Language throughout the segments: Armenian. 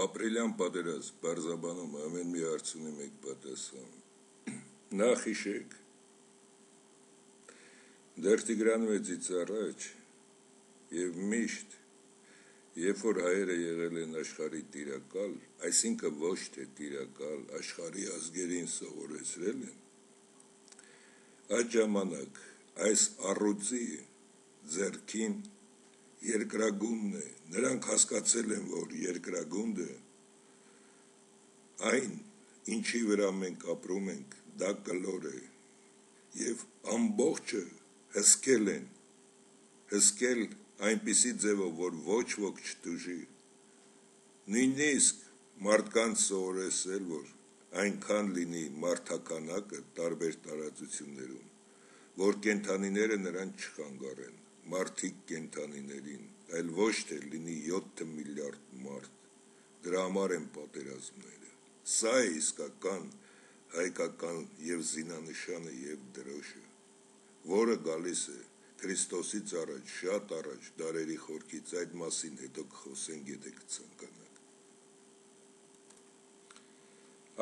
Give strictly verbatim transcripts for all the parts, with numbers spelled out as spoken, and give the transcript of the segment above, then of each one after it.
Ապրիլյան պատերազմ Բարզաբանում ամեն մի հարց ունի մեկ պատասխան։ Նախ հիշեք, դեռ Տիգրանվեցից առաջ եւ միշտ, երբ որ հայերը եղել են աշխարհի տիրակալ, այսինքն ոչ թե տիրակալ, աշխարհի ազգերին սովորեցրել են, այդ ժամանակ այս առյուծի ձեռքին երկրագունդն է, նրանք հասկացել են, որ երկրագունդը այն, ինչի վրա մենք ապրում ենք, դա կլոր է, և ամբողջը հսկել են, հսկել այնպիսի ձևով, որ ոչ ոք չտուժի, նույնիսկ մարդկանց սովորեցրել, որ այնքան լինի մարդաքանակը տարբեր տարածություններում, որ կենդանիները նրան չխանգարեն, մարդիկ կենդանիներին, այլ ոչ թե լինի յոթ միլիարդ մարդ, դրա համար են պատերազմները, սա է իսկական հայկական և զինանշանը և դրոշը, որը գալիս է Քրիստոսից առաջ, շատ առաջ, դարերի խորքից, այդ մասին հետո կխոսենք, եթե կցանկանաք։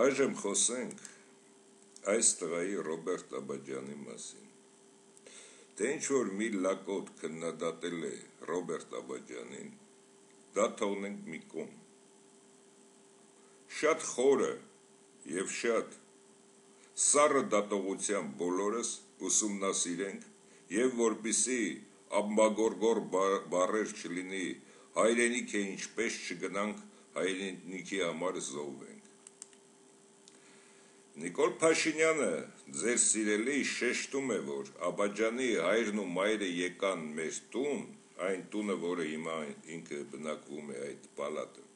Այժմ խոսենք այս տղայի Ռոբերտ Աբաջյանի մասին, թե ինչ-որ մի լակոտ քննադատել է Ռոբերտ Աբաջյանին, դա թողնենք մի կողմ, շատ խորը և շատ սառը դատողությամբ բոլորս ուսումնասիրենք և որպեսզի ամբագորգոր բառեր չլինի, հայրենիք է ինչպես չգնանք հայրենիքի համար զոհվենք։ Նիկոլ Փաշինյանը, ձեր սիրելի, շեշտում է, որ Աբաջյանի հայրն ու մայրը եկան մեր տուն, այն տունը, որը հիմա ինքը բնակվում է այդ պալատը,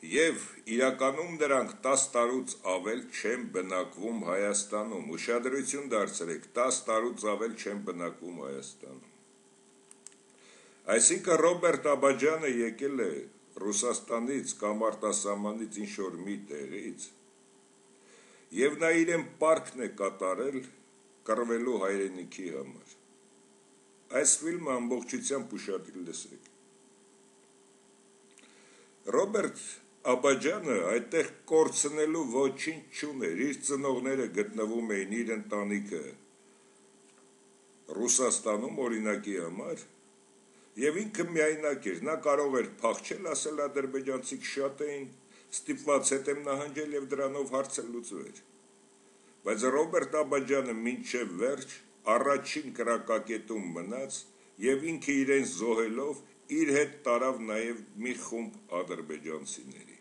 և իրականում նրանք տաս տարուց ավել չեն բնակվում Հայաստանում, ուշադրություն դարձրեք, տաս տարուց ավել չեն բնակվում Հայաստանում։ Այսինքն Ռոբերտ Աբաջյանը եկել է Ռուսաստանից կամ արտասահմանից ինչ-որ մի տեղից, և նա իրեն պարտքն է կատարել կռվելու հայրենիքի համար։ Այս ֆիլմը ամբողջությամբ ուշադիր լսեք։ Ռոբերտ Աբաջյանը այդտեղ կորցնելու ոչինչ չուներ, իր ծնողները գտնվում էին, իր ընտանիքը Ռուսաստանում օրինակի համար, և ինքը միայնակ էր, նա կարող էր փախչել, ասել ադրբեջանցիք շատ էին, ստիպված հետ եմ նահանջել և դրանով հարցը լուծվեր։ Բայց Ռոբերտ Աբաջյանը մինչև վերջ առաջին կրակակետում մնաց և ինքը իրեն զոհելով իր հետ տարավ նաև մի խումբ ադրբեջանցիների։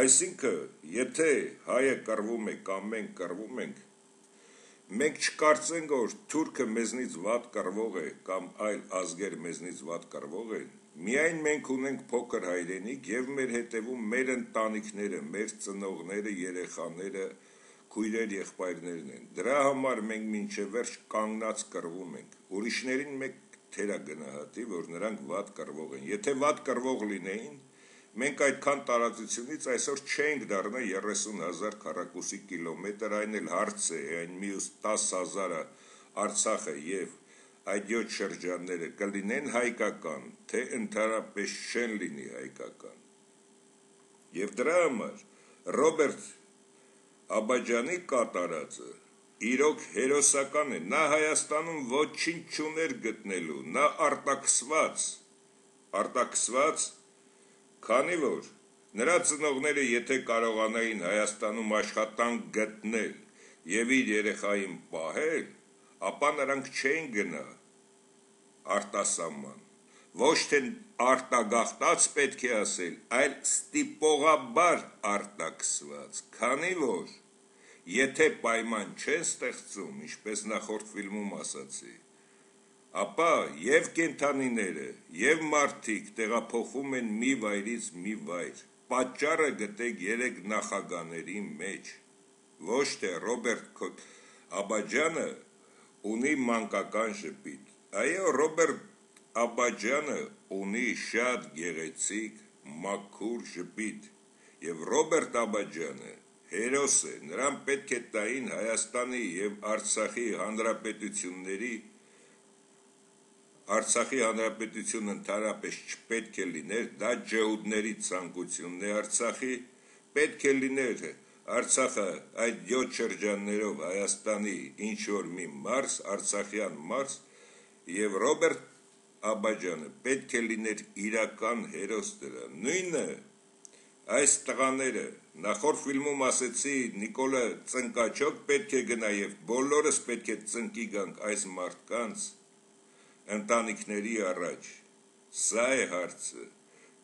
Այսինքն, եթե հայը կռվում է կամ մենք կռվում ենք, մենք չկարծենք, որ թուրքը մեզնից վատ կռվող է կամ այլ ազգեր մեզնից վատ կռվող են, միայն մենք ունենք փոքր հայրենիք և մեր հետևում մեր ընտանիքները, մեր ծնողները, երեխաները, քույրեր, եղբայրներն են։ Դրա համար մենք մինչև վերջ կանգնած կռվում ենք, ուրիշներին մեկ թերագնահատի, որ նրանք վատ կռվող են։ Եթե վատ կռվող լինեին, մենք այդքան տարածությունից այսօր չենք դառնա երեսուն հազար քառակուսի կիլոմետր, այն էլ հարց է, այն մյուս տաս հազարը Արցախը և այդ յոթ շրջանները կլինեն հայկական, թե ընդհանրապես չեն լինի հայկական։ Եվ դրա համար Ռոբերտ Աբաջյանի կատարածը իրոք հերոսական է, նա Հայաստանում ոչինչ չուներ գտնելու, նա արտաքսված, արտաքսված, քանի որ նրա ծնողները եթե կարողանային Հայաստանում աշխատանք գտնել և իր երեխային պահել, ապա նրանք չէին գնա արտասահման, ոչ թե արտագաղթած պետք է ասել, այլ ստիպողաբար արտաքսված, քանի որ եթե պայման չեն ստեղծում, ինչպես նախորդ ֆիլմում ասացի, ապա և կենդանիները, և մարդիկ տեղափոխվում են մի վայրից մի վայր, պատճառը գտեք երեք նախագաների մեջ, ոչ թե Ռոբերտ Աբաջյանը ունի մանկական ժպիտ, այո, Ռոբերտ Աբաջյանը ունի շատ գեղեցիկ, մաքուր ժպիտ, և Ռոբերտ Աբաջյանը հերոս է, նրան պետք է տային Հայաստանի և Արցախի հանրապետությունների Արցախի հանրապետությունը ընդհանրապես չպետք է լիներ, դա ջհուդների ցանկությունն է Արցախի, պետք է լիներ Արցախը այդ յոթ շրջաններով Հայաստանի ինչ որ մի մարզ, Արցախյան մարզ, եւ Ռոբերտ Աբաջյանը պետք է լիներ իրական հերոս դրա, նույնը այս տղաները, նախորդ ֆիլմում ասեցի Նիկոլը ծնկաչոք պետք է գնա եւ բոլորս պետք է ծնկի գանք այս մարդկանց ընտանիքների առաջ, սա է հարցը,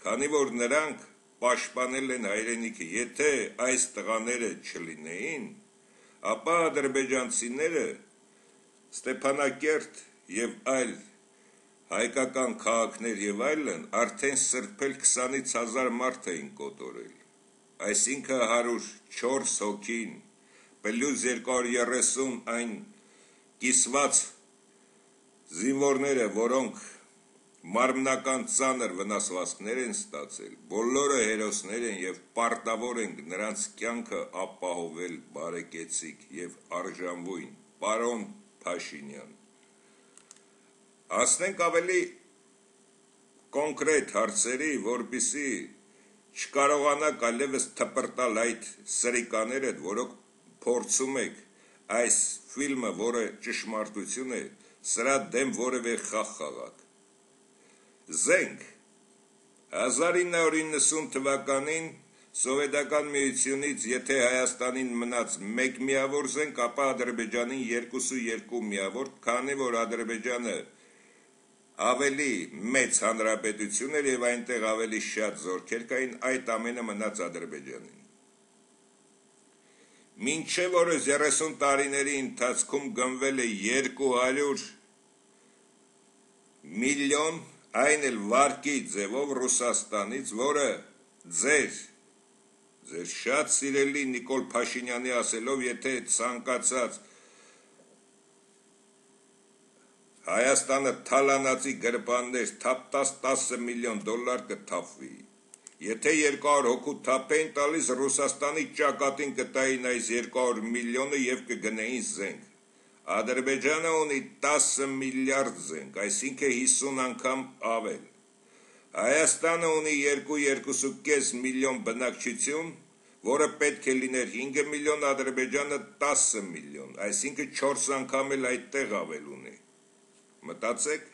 քանի որ նրանք պաշտպանել են հայրենիքը, եթե այս տղաները չլինեին, ապա ադրբեջանցիները Ստեփանակերտ եւ այլ հայկական քաղաքներ եւ այլն արդեն սրբել քսանից հազար մարդ էին կոտորել, այսինքն հարյուր չորս հոգին, պլյուս երկու հարյուր երեսուն այն կիսված զինվորները, որոնք մարմնական ծանր վնասվածքներ են ստացել, բոլորը հերոսներ են եւ պարտավոր ենք նրանց կյանքը ապահովել բարեկեցիկ եւ արժանվույն, պարոն Փաշինյան։ Ասնենք ավելի կոնկրետ հարցերի, որպիսի չկարողանաք այլևս թպրտալ այդ սրիկաները, որոնք փորձում եք այս ֆիլմը, որը ճշմարտություն է, սրա դեմ որևէ խաղ խաղաք։ Զենք հազար ինը հարյուր իննսուն թվականին Սովետական միությունից եթե Հայաստանին մնաց մեկ միավոր զենք, ապա Ադրբեջանին երկուսու երկու միավոր, քանի որ Ադրբեջանը ավելի մեծ հանրապետություն էր եւ այնտեղ ավելի շատ զորքեր կային, այդ ամենը մնաց Ադրբեջանին։ Մինչև օրս երեսուն տարիների ընթացքում գնվել է երկու հարյուր միլիոն, այն էլ վարկի ձևով Ռուսաստանից, որը ձեր ձեր շատ սիրելի Նիկոլ Փաշինյանի ասելով, եթե ցանկացած Հայաստանը թալանացի գրպաններ թափտած տասը միլիոն դոլար կթափվի։ Եթե երկու հարյուր հոգու թափ էին տալիս, Ռուսաստանի ճակատին կտային այս երկու հարյուր միլիոնը եւ կգնեին զենք։ Ադրբեջանը ունի տասը միլիարդ զենք, այսինքն հիսուն անգամ ավել։ Հայաստանը ունի երկու երկու կես միլիոն բնակչություն, որը պետք է լիներ հինգ միլիոն, Ադրբեջանը տասը միլիոն, այսինքն չորս անգամ էլ այդտեղ ավել ունի։ Մտածեք,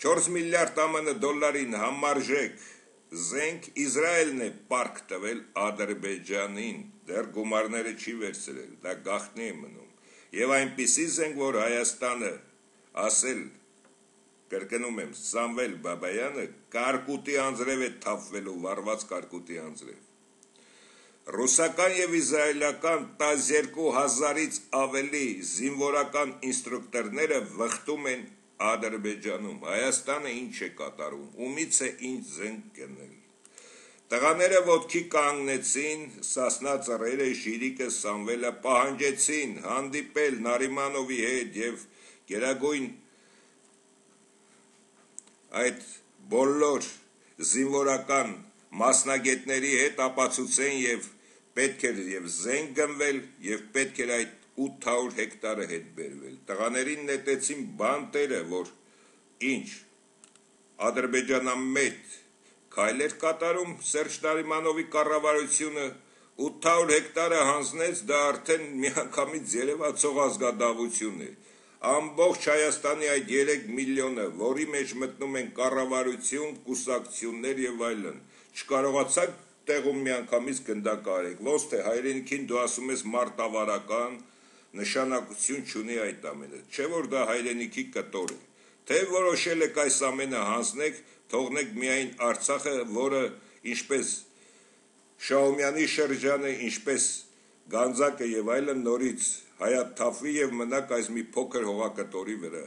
չորս միլիարդ ԱՄՆ դոլարին համարժեք զենք Իսրայելն է պարկ տվել Ադրբեջանին, դեռ գումարները չի վերցրել, դա գաղտնի է մնում։ Եվ այնպիսի զենք, որ Հայաստանը ասել կրկնում եմ, Սամվել Բաբայանը կարկուտի անձրև է թափվելու, վառված կարկուտի անձրև։ Ռուսական եւ իսրայելական տասներկու հազարից ավելի զինվորական ինստրուկտորները վխտում են Ադրբեջանում, Հայաստանը ինչ է կատարում, ումից է ինչ զենք գնել։ Տղաները ոտքի կանգնեցին, Սասնա ծռերը, Շիրիկը, Սամվելը պահանջեցին հանդիպել Նարիմանովի հետ եւ գերագույն այդ բոլոր զինվորական մասնագետների հետ ապացուցեն եւ պետք էր եւ զենք գնվել եւ պետք էր այդ ութ հարյուր հեկտարը հետ բերվել։ Տղաներին նետեցին բանտերը, որ ինչ Ադրբեջանամետ քայլեր կատարում Սերժ Նարիմանովի կառավարությունը ութ հարյուր հեկտարը հանձնեց, դա արդեն միանգամից երևացող ազգադավություն է։ Ամբողջ Հայաստանի այդ երեք միլիոնը, որի մեջ մտնում են կառավարություն, կուսակցություններ եւ այլն, չկարողացաք տեղում միանգամից գնդակարեք, ոնց թե հայրենիքին դու ասում ես մարտավարական, նշանակություն չունի այդ ամենը, չէ որ դա հայրենիքի կտոր է, թե որոշել եք այս ամենը հանձնեք, թողնեք միայն Արցախը, որը ինչպես Շահումյանի շրջանը, ինչպես Գանձակը եւ այլն նորից հայաթափվի եւ մնաք այս մի փոքր հողակտորի վրա։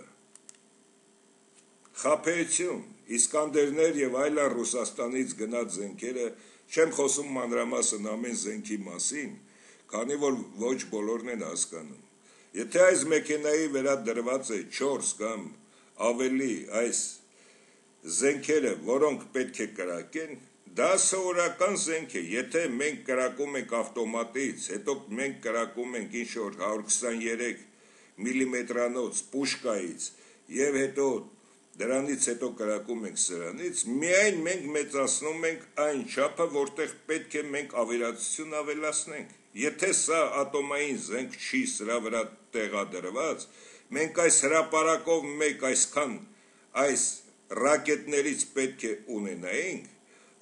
Խաբեություն, Իսկանդերներ եւ այլն Ռուսաստանից գնաց զենքերը, չեմ խոսում մանրամասն ամեն զենքի մասին, քանի որ ոչ բոլորն են հասկանում։ Եթե այս մեքենայի վրա դրված է չորս կամ ավելի այս զենքերը, որոնք պետք է կրակեն, դա սովորական զենք է, եթե մենք կրակում ենք ավտոմատից, հետո մենք կրակում ենք ինչ-որ հարյուր քսաներեք միլիմետրանոց պուշկայից եւ հետո դրանից հետո կրակում ենք սրանից, միայն մենք մեծացնում ենք այն չափը, որտեղ պետք է մենք ավերածություն ավելացնենք։ Եթե սա ատոմային զենք չի սրա վրա տեղադրված, մենք այս հրապարակով մեկ այսքան այս ռակետներից պետք է ունենայինք,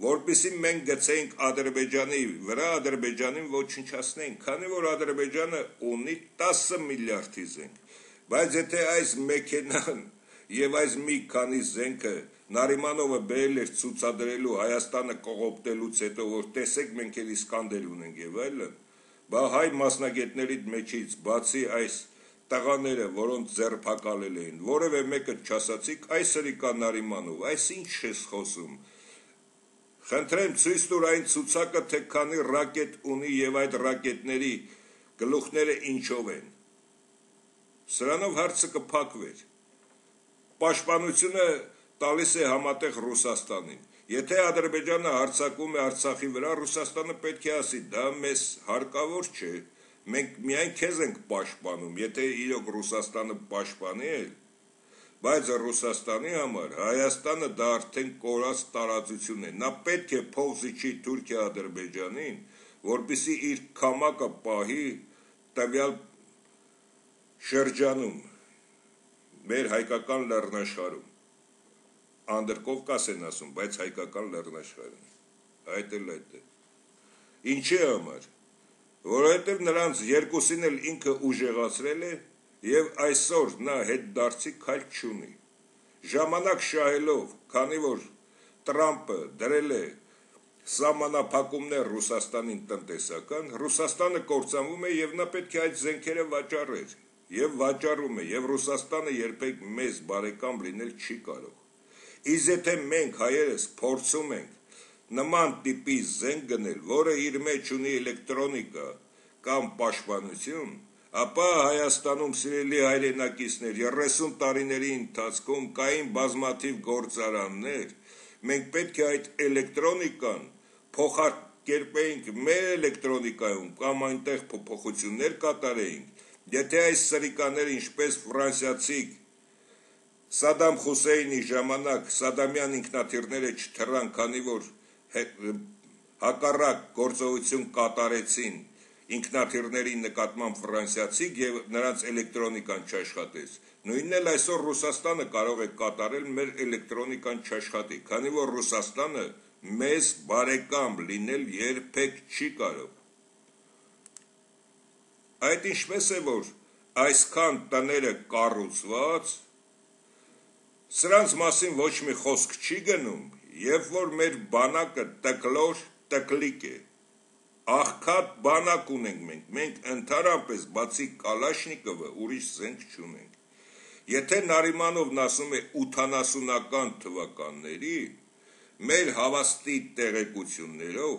որպեսզի մենք գցեինք Ադրբեջանի վրա, Ադրբեջանին ոչնչացնենք, քանի որ Ադրբեջանը ունի տասը միլիարդի զենք, բայց եթե այս մեքենան եւ այս մի քանի զենքը Նարիմանովը բերել էր ցուցադրելու Հայաստանը կողոպտելուց հետո, որ տեսեք մենք էլ Իսկանդեր ունենք եւ այլն, բա հայ մասնագետների մեջից բացի այս տղաները, որոնց ձերբակալել էին, որևէ մեկը չասացիք, այս հրիկա Նարիմանով, այս ինչ ես խոսում։ Խնդրեմ ցույց տուր այն ցուցակը, թե քանի ռակետ ունի եւ այդ ռակետների գլուխները ինչով են։ Սրանով հարցը կփակվեր։ Պաշտպանությունը տալիս է համատեղ Ռուսաստանին։ Եթե Ադրբեջանը հարձակում է Արցախի վրա, Ռուսաստանը պետք է ասի, դա մեզ հարկավոր չէ, մենք միայն քեզ ենք պաշտպանում, եթե իրոք Ռուսաստանը պաշտպանի է, բայց Ռուսաստանի համար Հայաստանը դա արդեն կորած տարածություն է, նա պետք է փող զիջի Թուրքիա Ադրբեջանին, որպեսզի իր քամակը պահի տվյալ շրջանում, մեր հայկական լեռնաշխարհում, Անդրկովկաս են ասում, բայց հայկական լեռնաշխարհում, այդ էլ այդ է, ինչի համար, որովհետև նրանց երկուսին էլ ինքը ուժեղացրել է եւ այսօր նա հետ դարձի քայլ չունի, ժամանակ շահելով, քանի որ Տրամպը դրել է սահմանափակումներ Ռուսաստանին տնտեսական, Ռուսաստանը կործանվում է եւ նա պետք է այդ զենքերը վաճառեր եւ վաճառում է եւ Ռուսաստանը երբեք մեզ բարեկամ լինել չի կարող։ Իսկ եթե մենք հայերս փորձում ենք նման տիպի զենք գնել, որը իր մեջ ունի էլեկտրոնիկա կամ պաշտպանություն, ապա Հայաստանում սիրելի հայրենակիցներ երեսուն տարիների ընթացքում կային բազմաթիվ գործարաններ, մենք պետք է այդ էլեկտրոնիկան փոխակերպեինք մեր էլեկտրոնիկայում կամ այնտեղ փոփոխություններ կատարեինք, եթե այս սրիկաները ինչպես ֆրանսիացի Սադամ Խուսեյնի ժամանակ Սադամյան ինքնաթիռները չթռան, քանի որ հակառակ գործողություն կատարեցին ինքնաթիռների նկատմամբ ֆրանսիացիք եւ նրանց էլեկտրոնիկան չաշխատեց։ Նույնն էլ այսօր Ռուսաստանը կարող է կատարել, մեր էլեկտրոնիկան չաշխատի, քանի որ Ռուսաստանը մեզ բարեկամ լինել երբեք չի կարող։ Այդ ինչպես է, որ այսքան տները կառուցված, սրանց մասին ոչ մի խոսք չի գնում, երբ որ մեր բանակը տկլոր տկլիկ է, աղքատ բանակ ունենք մենք, մենք ընդհանրապես բացի Կալաշնիկովը ուրիշ զենք չունենք։ Եթե Նարիմանովն ասում է ութանասունական թվականների, մեր հավաստի տեղեկություններով,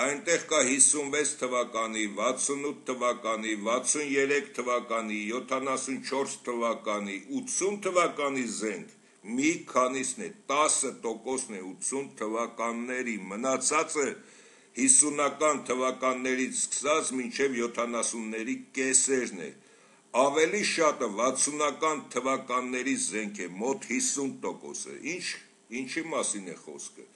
այնտեղ կա հիսունվեց թվականի, վաթսունութ թվականի, վաթսուներեք թվականի, յոթանասունչորս թվականի, ութսուն թվականի զենք, մի քանիսն է, տասը տոկոսն է ութսուն թվականների, մնացածը հիսունական թվականներից սկսած մինչև յոթանասունների կեսերն է, ավելի շատը վաթսունական թվականների զենք է, մոտ հիսուն տոկոսը, ինչ, ինչի մասին է խոսքը,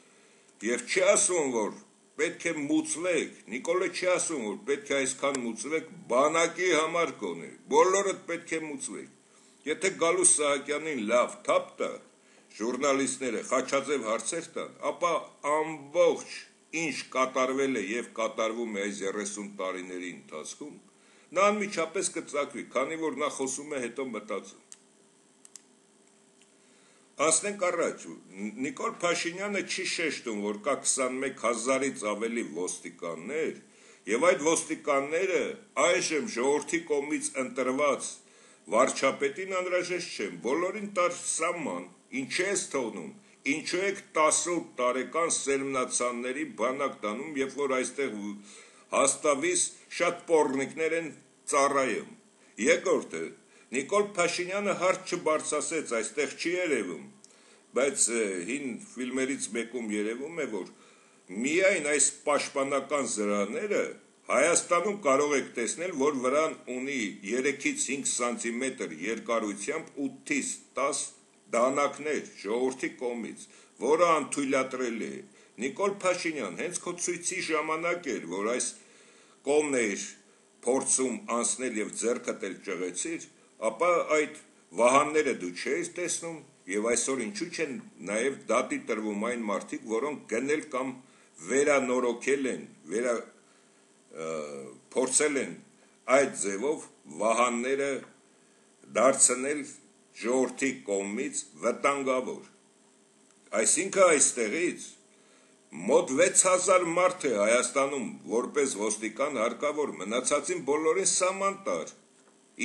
և չի ասում, որ պետք է մուծվեք, Նիկոլը չի ասում, որ պետք է այսքան մուծվեք, բանակի համար կոնե, բոլորդ պետք է մուծվեք, եթե Գալուս Սահակյանին լավ թափ տա, ժուրնալիստները Խաչաձև հարցեր տան, ապա ամբողջ ինչ կատարվել է եւ կատարվում է այս երեսուն տարիների ընթացքում, նա անմիջապես կծակվի, քանի որ նա խոսում է հետո մտածում։ Անցնենք առաջ, Նիկոլ Փաշինյանը չի շեշտում, որ կա քսանմեկ հազարից ավելի ոստիկաններ, եւ այդ ոստիկանները այժմ ժողովրդի կողմից ընտրված վարչապետին անհրաժեշտ չեն, բոլորին տար սահման, ինչ ես թողնում, ինչու եք տասնութ տարեկան սերմնացանների բանակ տանում, երբ որ այստեղ հաստավիս շատ պոռնիկներ են ծառայում։ Երկրորդը, Նիկոլ Փաշինյանը հարց չբարձրացեց, այստեղ չի երևում, բայց հին ֆիլմերից մեկում երևում է, որ միայն այս պաշտպանական զրահները Հայաստանում կարող եք տեսնել, որ վրան ունի երեքից հինգ սանտիմետր երկարությամբ ութից տասը դանակներ ժողովրդի կողմից, որը անթույլատրել է։ Նիկոլ Փաշինյան, հենց քո ցույցի ժամանակ էր, որ այս կողմն էր փորձում անցնել եւ ձեռքդ էլ ճղեցիր, ապա այդ վահանները դու չես տեսնում եւ այսօր ինչու չեն նաեւ դատի տրվում այն մարդիկ, որոնք գնել կամ վերանորոգել են, վերա փորձել են այդ ձևով վահանները դարձնել ժողովրդի կողմից վտանգավոր։ Այսինքն այստեղից մոտ վեց հազար մարդ է Հայաստանում որպես ոստիկան հարկավոր, մնացածին բոլորին սահման տար։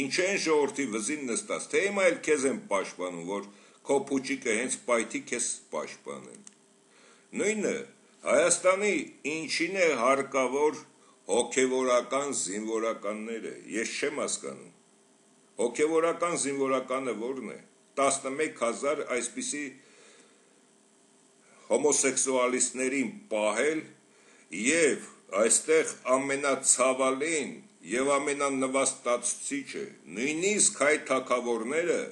Ինչ են ժողովրդի վզին նստած, թե հիմա էլ քեզ են պաշտպանում, որ քո փուչիկը հենց պայթի քեզ պաշտպանեն։ Նույնը Հայաստանի ինչին է հարկավոր հոգևորական զինվորականները, ես չեմ հասկանում։ Հոգևորական զինվորականը որն է։ տասնմեկ հազար այսպիսի հոմոսեքսուալիստներին պահել եւ այստեղ ամենացավալին եւ ամենանվաստացուցիչը, նույնիսկ հայ թագավորները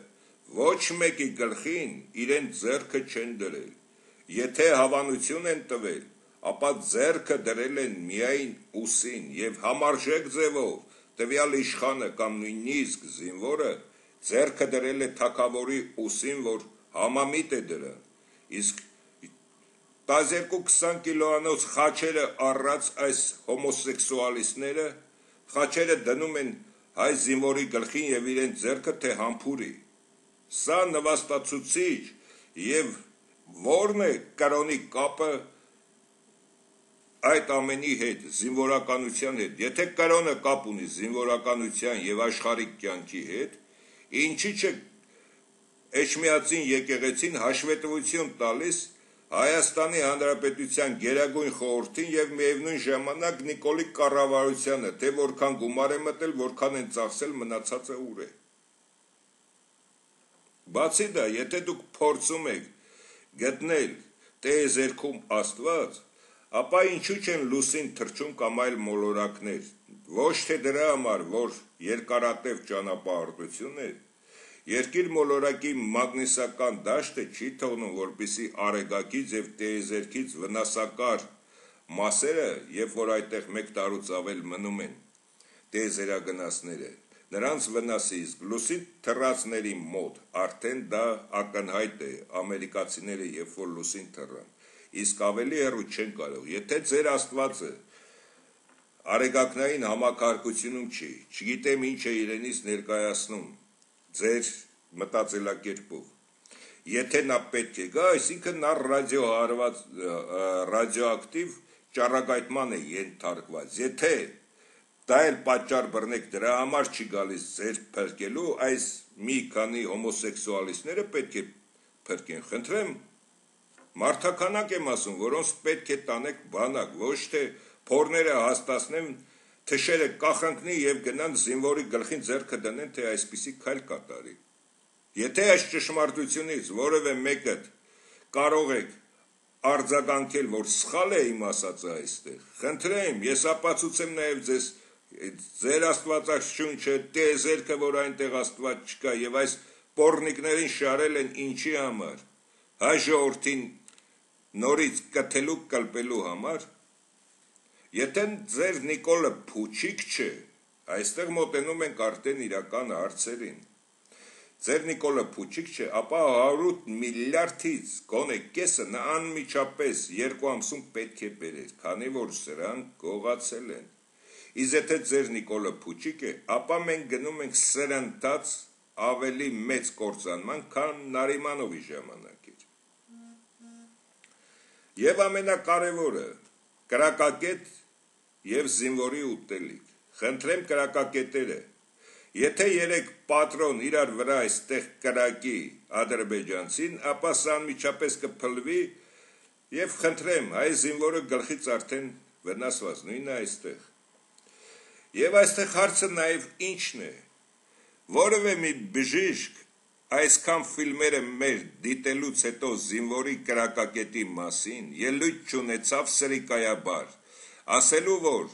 ոչ մեկի գլխին իրեն ձեռքը չեն դրել։ Եթե հավանություն են տվել, ապա ձեռքը դրել են միայն ուսին եւ համարժեք ձևով տվյալ իշխանը կամ նույնիսկ զինվորը ձեռքը դրել է թագավորի ուսին, որ համամիտ է դրան։ Իսկ տասներկու քսան կիլոանոց խաչերը առած այս հոմոսեքսուալիստները խաչերը դնում են հայ զինվորի գլխին եւ իրեն ձեռքը թե համբուրի։ Սա նվաստացուցիչ եւ որն է կրոնի կապը այդ ամենի հետ, զինվորականության հետ։ Եթե կրոնը կապ ունի զինվորականության եւ աշխարհիկ կյանքի հետ, ինչի՞ չէ Էջմիածին եկեղեցին հաշվետվություն տալիս Հայաստանի Հանրապետության Գերագույն խորհրդին եւ միևնույն ժամանակ Նիկոլի կառավարությանը, թե որքան գումար է մտել, որքան են ծախսել, մնացածը ուր է։ Բացի դա, եթե դուք փորձում եք գտնել տեեզերքում Աստված, ապա ինչու չեն լուսին թռչում կամ այլ մոլորակներ, ոչ թե դրա համար, որ երկարատև ճանապարհորդություն է, երկիր մոլորակի մագնիսական դաշտը չի թողնում, որպեսզի արեգակից եւ տեեզերքից վնասակար մասերը, երբ որ այդտեղ մեկ տարուց ավել մնում են տեեզերագնացները, նրանց վնասի, իսկ լուսին թռածների մոտ արդեն դա ակնհայտ է, ամերիկացիները երբ որ լուսին թռան, իսկ ավելի հեռու չեն կարող, եթե ձեր Աստվածը արեգակնային համակարգությունում չի, չգիտեմ ինչ է իրենից ներկայացնում ձեր մտածելակերպով, եթե նա պետք է գա, այսինքն նա ռադիոհարված, ռադիոակտիվ ճառագայթման է ենթարկված, եթե դա էլ պատճառ բռնեք դրա համար չի գալիս ձեր փրկելու, այս մի քանի հոմոսեքսուալիստները պետք է փրկեն, խնդրեմ, մարդականակ եմ ասում, որոնց պետք է տանեք բանակ, ոչ թե փորները հաստացնեն, թշերը կախանքնի եւ գնան զինվորի գլխին ձեռքը դնեն, թե այսպիսի քայլ կատարի։ Եթե այս ճշմարտությունից որևէ մեկը կարող եք արձագանքել, որ սխալ է իմ ասածը այստեղ, խնդրեմ, ես ապացուցեմ նաեւ ձեզ ձեր աստվածաշունչը, տեեզերքը, որ այնտեղ Աստված չկա եւ այս պոռնիկներին շարել են ինչի համար, հայ ժողովրդին նորից կթելու կլպելու համար։ Եթե ձեր Նիկոլը փուչիկ չէ, այստեղ մոտենում ենք արդեն իրական հարցերին։ Ձեր Նիկոլը փուչիկ չէ, ապա հարյուր միլիարդից գոնե կեսը նա անմիջապես երկու ամսում պետք է բերեր, քանի որ սրանք գողացել են։ Իսկ եթե ձեր Նիկոլը փուչիկ է, ապա մենք գնում ենք սրընթաց ավելի մեծ կործանման, քան Նարիմանովի ժամանակ էր։ Եվ ամենակարևորը, կրակակետ եւ զինվորի ուտելիք։ Խնդրեմ կրակակետերը, եթե երեք պատրոն իրար վրա այստեղ կրակի ադրբեջանցին, ապա սա անմիջապես կփլվի եւ խնդրեմ, հայ զինվորը գլխից արդեն վնասված, նույնը այստեղ։ Եվ այստեղ հարցը նաեւ ինչն է, որևէ մի բժիշկ այսքան ֆիլմերը մեր դիտելուց հետո զինվորի կրակակետի մասին ելույթ չունեցավ սրիկայաբար, ասելու որ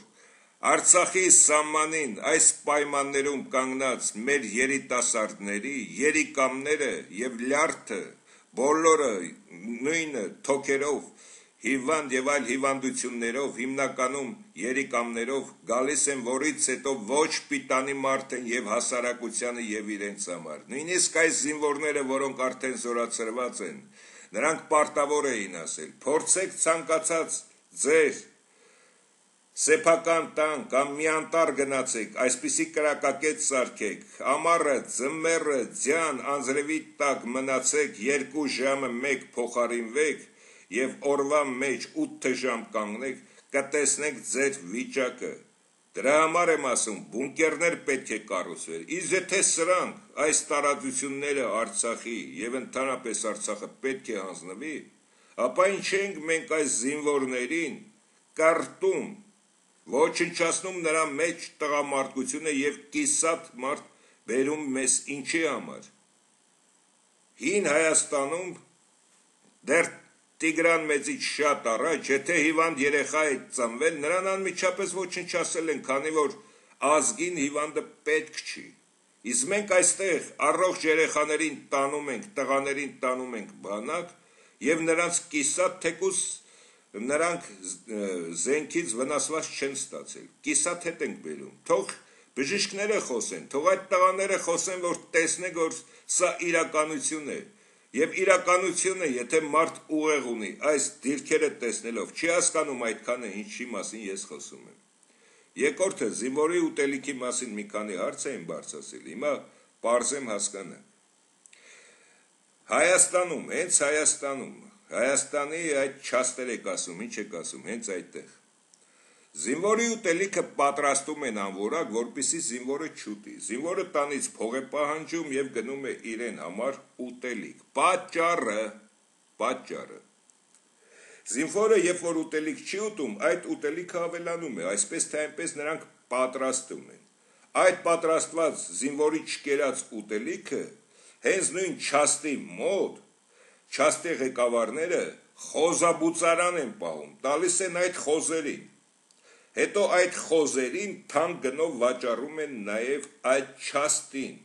Արցախի սահմանին այս պայմաններում կանգնած մեր երիտասարդների երիկամները եւ լյարդը բոլորը նույն թոքերով, հիվանդ եւ այլ հիվանդություններով, հիմնականում երիկամներով գալիս են, որից հետո ոչ պիտանի մարդ են եւ հասարակությանը եւ իրենց համար։ Նույնիսկ այս զինվորները, որոնք արդեն զորացրված են, նրանք պարտավոր էին ասել. փորձեք ցանկացած ձեր սեփական տան կամ մի անտառ գնացեք, այսպիսի կրակակետ սարքեք, ամառը, ձմեռը, ձյան, անձրևի տակ մնացեք, երկու ժամը մեկ փոխարինվեք եւ օրվա մեջ ութ ժամ կանգնեք, կտեսնեք ձեր վիճակը։ Դրա համար եմ ասում, բունկերներ պետք է կառուցվեր։ Իսկ եթե սրանք այս տարածությունները Արցախի եւ ընդհանրապես Արցախը պետք է հանձնվի, ապա ինչ ենք մենք այս զինվորներին կարտում, ոչնչացնում նրա մեջ տղամարդկությունը եւ կիսատ մարդ բերում մեզ ինչի համար։ Հին Հայաստանում դեռ Տիգրան մեծից շատ առաջ, եթե հիվանդ երեխա է ծնվել, նրան անմիջապես ոչնչացել են, քանի որ ազգին հիվանդը պետք չի։ Իսկ մենք այստեղ առողջ երեխաներին տանում ենք, տղաներին տանում ենք բանակ եւ նրանց կիսատ թեկուս նրանք զենքից վնասված չեն ստացել։ Կիսատ հետ ենք բերում։ Թող բժիշկները խոսեն, թող այդ տղաները խոսեն, որ տեսնեք, որ սա իրականություն է։ Եվ իրականությունը, եթե մարդ ուղեղ ունի, այս դիրքերը տեսնելով, չի հասկանում այդքանը ինչի մասին ես խոսում եմ։ Երկրորդը, զինվորի ուտելիքի մասին մի քանի հարց էին բարձրացել, հիմա պարզեմ հասկանանք։ Հայաստանում, հենց Հայաստանում, Հայաստանի այդ չաստեր եք ասում, ինչ եք ասում, հենց այդտեղ։ Զինվորի ուտելիքը պատրաստում են անորակ, որպեսզի զինվորը չուտի։ Զինվորը տանից փող է պահանջում եւ գնում է իրեն համար ուտելիք։ Պատճառը, պատճառը։ Զինվորը, երբ որ ուտելիք չի ուտում, այդ ուտելիքը ավելանում է, այսպես թե այնպես նրանք պատրաստում են։ Այդ պատրաստված զինվորի չկերած ուտելիքը հենց նույն չաստի մոտ, չաստի ղեկավարները խոզաբուծարան են պահում, տալիս են այդ խոզերին։ Հետո այդ խոզերին թանկ գնով վաճառում են նաև այդ չաստին։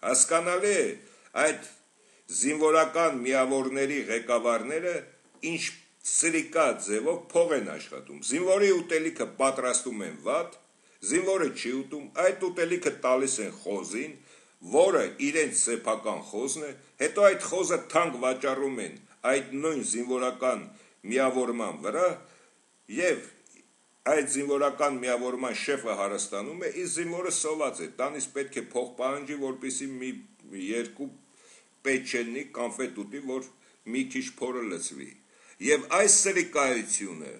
Հասկանալի է, այդ զինվորական միավորների ղեկավարները ինչ սրիկա ձևով փող են աշխատում։ Զինվորի ուտելիքը պատրաստում են վատ, զինվորը չի ուտում, այդ ուտելիքը տալիս են խոզին, որը իրենց սեփական խոզն է, հետո այդ խոզը թանկ վաճառում են այդ նույն զինվորական միավորման վրա եւ այդ զինվորական միավորման շեֆը հարստանում է, իսկ զինվորը սոված է, տանից պետք է փող պահանջի, որպեսզի մի երկու պեչենի կոնֆետ ուտի, որ մի քիչ փորը լցվի։ Եվ այս սրիկայությունը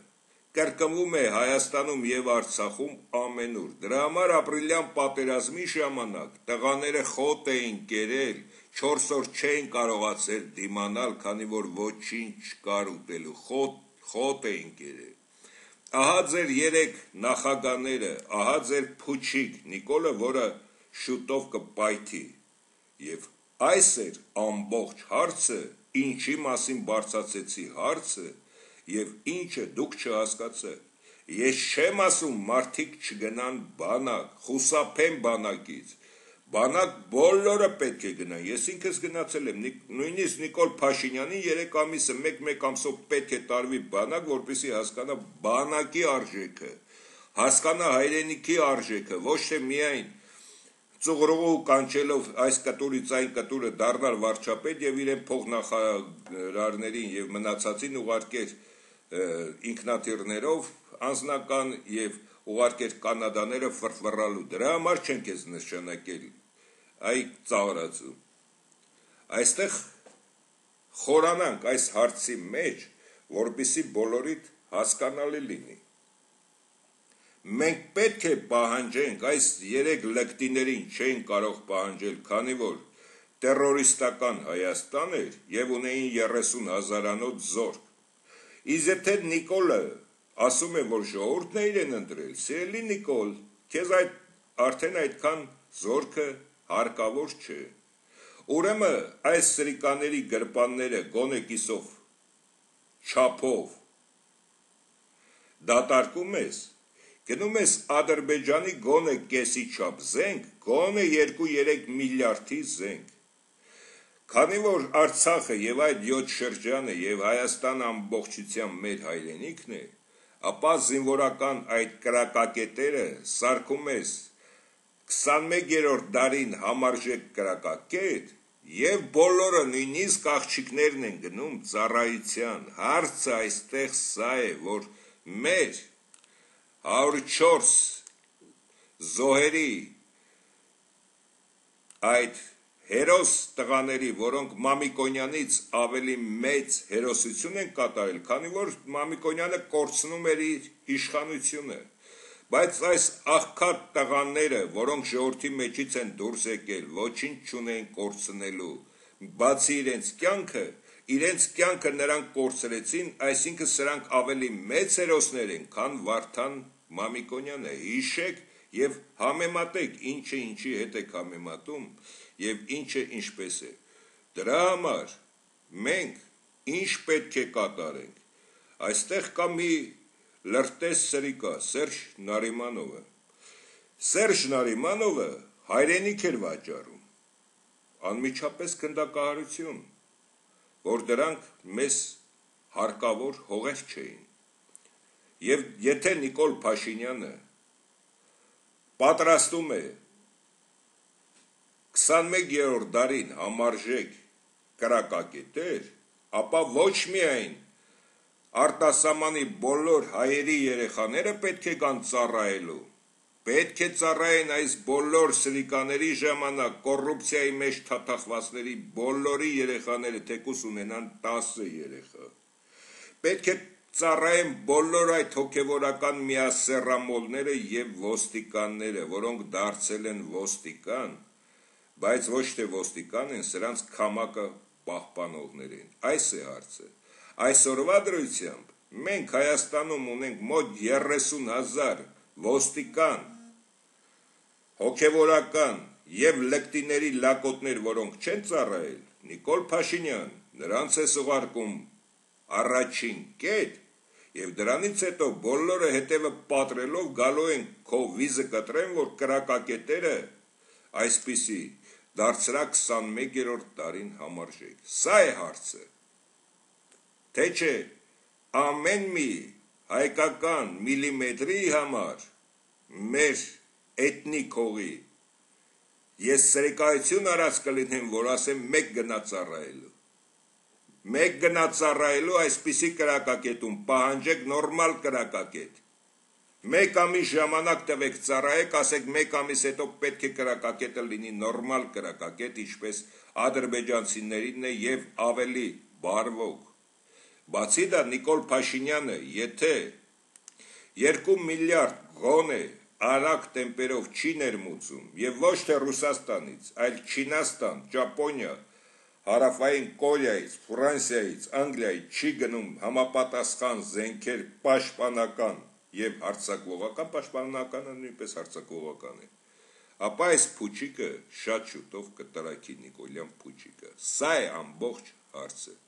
կրկնվում է Հայաստանում եւ Արցախում ամենուր։ Դրա համար ապրիլյան պատերազմի ժամանակ տղաները խոտ էին կերել, չորս օր չէին կարողացել դիմանալ, քանի որ ոչինչ չկար ուտելու, խոտ, խոտ էին կերել։ Ահա ձեր երեք նախագաները, ահա ձեր փուչիկ Նիկոլը, որը շուտով կպայթի։ Եվ այս էր ամբողջ հարցը, ինչի մասին բարձրացեցի հարցը, եւ ինչը դուք չհասկացաք։ Ես չեմ ասում մարդիկ չգնան բանակ, խուսափեն բանակից։ Բանակ բոլորը պետք է գնան։ Ես ինքս գնացել եմ, նույնիսկ Նիկոլ Փաշինյանին երեք ամիսը մեկ-մեկ ամսով պետք է տարվի բանակ, որպեսզի հասկանա բանակի արժեքը, հասկանա հայրենիքի արժեքը, ոչ թե միայն ծուղրուղու կանչելով այս կտուրից այն կտուրը դառնալ վարչապետ եւ իրեն փոխնախարարներին եւ մնացածին ուղարկեր ինքնաթիռներով անձնական եւ ուղարկեր կանադաները ֆրֆռալու։ Դրա համար չեն քեզ նշանակել այ ծաղրացու։ Այստեղ խորանանք այս հարցի մեջ, որպեսզի բոլորիդ հասկանալի լինի։ Մենք պետք է պահանջենք, այս երեք լկտիներին չեն կարող պահանջել, քանի որ տերորիստական Հայաստան էր եւ ունեին երեսուն հազարանոց զորք։ Իսկ եթե Նիկոլը ասում է, որ ժողովուրդն է իրեն ընտրել, սիրելի Նիկոլ, քեզ այդ արդեն այդքան զորքը հարկավոր չէ։ Ուրեմն այս սրիկաների գրպանները գոնե կիսով չափով դատարկում ես, գնում ես Ադրբեջանի գոնե կեսի չափ զենք, գոնե երկու երեք միլիարդի զենք։ Քանի որ Արցախը եւ այդ յոթ շրջանը եւ Հայաստանը ամբողջությամբ մեր հայրենիքն է, ապա զինվորական այդ կրակակետերը սարքում ես քսանմեկերորդ դարին համարժեք կրակակետ եւ բոլորը նույնիսկ աղջիկներն են գնում ծառայության։ Հարցը այստեղ սա է, որ մեր հարյուր ու չորս զոհերի այդ հերոս տղաների, որոնք Մամիկոնյանից ավելի մեծ հերոսություն են կատարել, քանի որ Մամիկոնյանը կորցնում էր իր իշխանությունը, բայց այս աղքատ տղաները, որոնք ժողովրդի մեջից են դուրս եկել, ոչինչ չունեն կորցնելու, բացի իրենց կյանքը, իրենց կյանքը նրանք կորցրեցին, այսինքն սրանք ավելի մեծ հերոսներ են, քան Վարդան Մամիկոնյանը։ Հիշեք եւ համեմատեք, ինչը ինչի հետ եք համեմատում եւ ինչը ինչպես է։ Դրա համար մենք ինչ պետք է կատարենք։ Այստեղ կա մի լրտես սրիկա, Սերժ Նարիմանովը։ Սերժ Նարիմանովը հայրենիք էր վաճառում, անմիջապես գնդակահարություն, որ դրանք մեզ հարկավոր հողեր չէին։ Եվ եթե Նիկոլ Փաշինյանը պատրաստում է քսանմեկերորդ դարին համարժեք կրակակետեր, ապա ոչ միայն արտասահմանի բոլոր հայերի երեխաները պետք է գան ծառայելու, պետք է ծառայեն այս բոլոր սրիկաների ժամանակ կոռուպցիայի մեջ թաթախվածների բոլորի երեխաները, թեկուզ ունենան տասը երեխա, պետք է ծառայեն բոլոր այդ հոգևորական միասեռամոլները եւ ոստիկանները, որոնք դարձել են ոստիկան, բայց ոչ թե ոստիկան են, սրանց քամակը պահպանողներ են։ Այս է հարցը։ Այսօրվա դրությամբ մենք Հայաստանում ունենք մոտ երեսուն հազար ոստիկան, հոգևորական եւ լկտիների լակոտներ, որոնք չեն ծառայել, Նիկոլ Փաշինյան նրանց է սուղարկում առաջին կետ, եւ դրանից հետո բոլորը հետևը պատրելով գալու են քո վիզը կտրեն, որ կրակակետերը այսպիսի դարձրա քսանմեկերորդ դարին համարժեք։ Սա է հարցը։ Թե չէ ամեն մի հայկական միլիմետրի համար մեր էթնիկ հողի ես սրիկայություն արած կլինեմ, որ ասեմ մեկ գնա ծառայելու։ Մեկ գնա ծառայելու այսպիսի կրակակետում պահանջեք նորմալ կրակակետ։ Մեկ ամիս ժամանակ տվեք ծառայեք, ասեք մեկ ամիս հետո պետք է կրակակետը լինի նորմալ կրակակետ, ինչպես ադրբեջանցիներինն է եւ ավելի բարվոք։ Բացի դա Նիկոլ Փաշինյանը, եթե երկու միլիարդ գոնե արագ տեմպերով չի ներմուծում եւ ոչ թե Ռուսաստանից, այլ Չինաստան, Ճապոնիա, Հարավային Կորեայից, Ֆրանսիայից, Անգլիայից չի գնում համապատասխան զենքեր պաշտպանական եւ հարձակողական, պաշտպանականը նույնպես հարձակողական է, ապա այս փուչիկը շատ շուտով կտրակի Նիկոլյան փուչիկը։ Սա է ամբողջ հարցը։